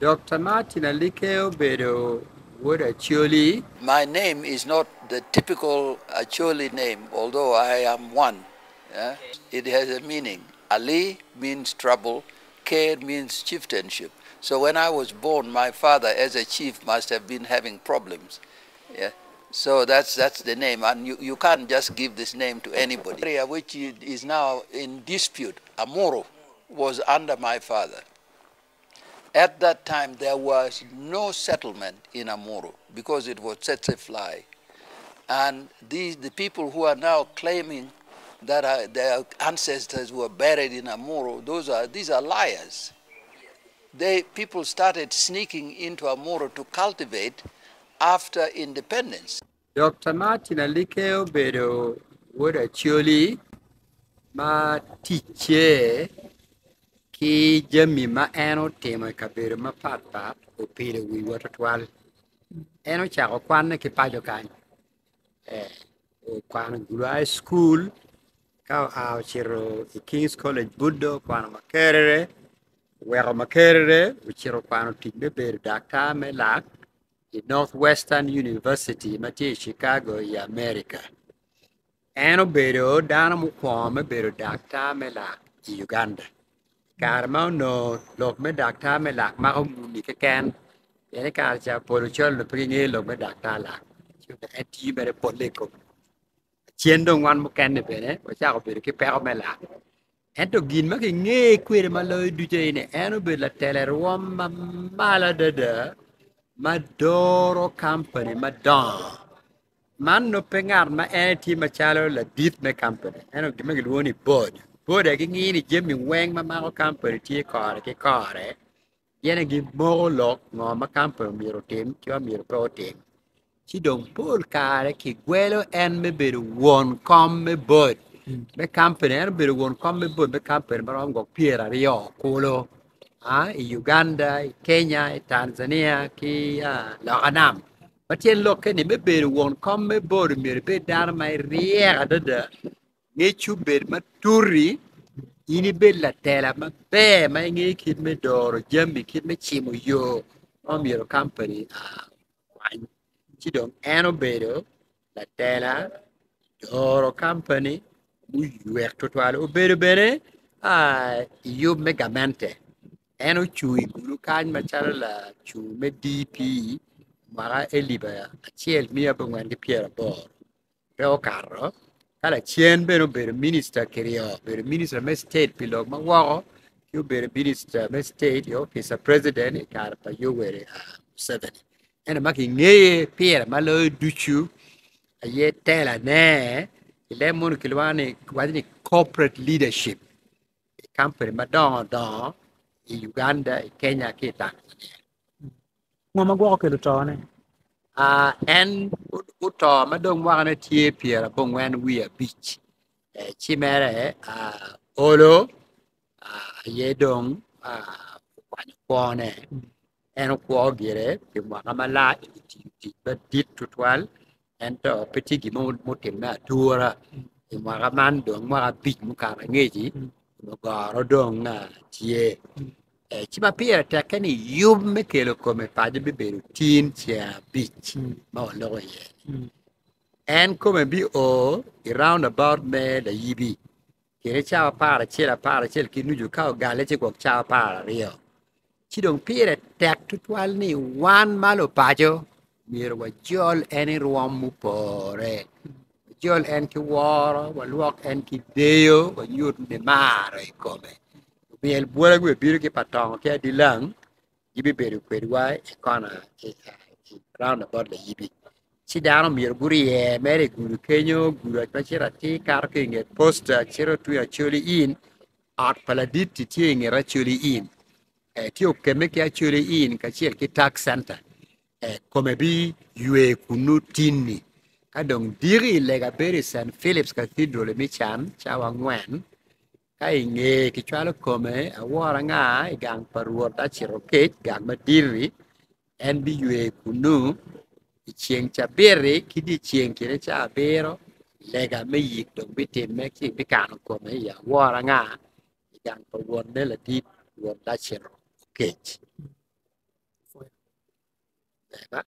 Dr. Martin Aliker obedo wod Acholi. My name is not the typical Acholi name, although I am one. Yeah? It has a meaning. Ali means trouble, Ker means chieftainship. So when I was born, my father, as a chief, must have been having problems. Yeah? So that's, that's the name, and you, you can't just give this name to anybody. Area which is now in dispute, Amuru, was under my father. At that time, there was no settlement in Amuru because it was tsetse fly. And these, the people who are now claiming that are, their ancestors were buried in Amuru, those are, these are liars. They, people started sneaking into Amuru to cultivate after independence. Dr. Martin Aliker obedo wod Acholi ma ticce ki jami ma en otimo i kabedo mapatpat opido wiwa tutwal. En ocako kwanne ki paco kany, okwano i Gulu High School ka oa ocito i Kings College Buddo okwano Makerere, oweko Makerere ocito okwano tic me bedo daktar me lak i North Western University ma tye i Chicago i America. En obedo dano mukwongo me bedo daktar me lak i Uganda. I kare ma onongo lok me daktar me lak mako muni keken, pien i kare ca pol ocol onongo pe gingeyo lok me daktar lak, ci onongo en tiyo mere polle i kome. Lacen dong wan mukene bene wacako bedo ki peko me lak. Ento gin ma kingeye kwede ma loyo ducu aye ni en obedo latela i rwom ma malo adada ma doro kampani madongo. Man nongo pe ngat ma en tye macalo ladit me kampani ento gin ma kilwongo ni board. Board aye gingiyo ni jami weng ma mako kampani tye kore ki kore gin aye gimoko lok ngo ma kampani myero otim ki ma myero pe otim. Ci dong pol kare kigwelo en me bedo won kom me board me kampani en obedo won kom me board me kampani ma romo gwok pyeraryo kulu i Uganda, i Kenya, i Tanzania ki loka nam. Ma tyen lokke ni me bedo won kom me board myero ibed dano ma iryek adada ngec obed matut-ti, in ibed latela maber ma ingeyo kit me doro jami, kit me cimo yo ma myero kampani okwany. Ci dong en obedo latela doro kampani muywek tutwal. Obedo bene i yub me gamente. En ocung i gudo kany macalo lacung me DP mwaka alip acel miya abongwen ki pyeraboro. pe okato ka lacen bene obedo minista kiryo obedo minista me state pi lok ma woko ki obedo minista me state i opic pa president i kare pa Yoweri Museveni ento ma kingeye pire ma loyo ducu aye telane i leb munu kilwongo ni kiwaco ni corporate leadership i kampani madongo dongo i Uganda, i Kenya ki i Tanzania. Ngo ma gwoko kelo tone? En oto ma dong mwakane tye pyerabongwen wiye abic ci mere olo aye dong okwanyo kwone en okwo gire pi mwaka malac otiyo tic madit tutwal ento pe tye gin mo mutimme atura i mwaka man dong mwaka abic mukato angec-ci goro dong tye. Ci ma pire tekke ni yub me kelo kome paco bibedo tin ceng abic ma waloko iye-ni. En kome bio i round about me layibi kede cawa aparacel aparacel ki nucu ka ogalle ci gwok cawa apararyo. Ci dong pire tek tutwal ni wan ma lupaco myero wajol en i rwom mupore, wajol en ki woro, walwok en ki deyo, wanyut nimaro i kome. Lumyel bwola gubibino ki pa tongo ki adilang gibibedo kwedwa i kona i round about layibi. Ci dano myero gurye mere i gudo kenyo, gudo ma cito atir kato ki i nget posta cito tung Acholi Inn, ot pa ladit-ti tye i nget Acholi Inn. Tye okemme ki Acholi Inn kacel ki Tax Center. Kome biywe kunnu tinni. Ka dong diki lega bedo i St. Philip's Cathedral i Mican cawa angwen. Ka i nge kicwalo kome awor anga i gang pa Rwot acito kec, gang madit-ti, en biywe kunnu i ceng cabit-ti ki dyeceng kine cawa abiro, lega me yik dong bitimme ci bikano kome i awor anga i gang pa wonne ladit, Rwot Lacito Okec.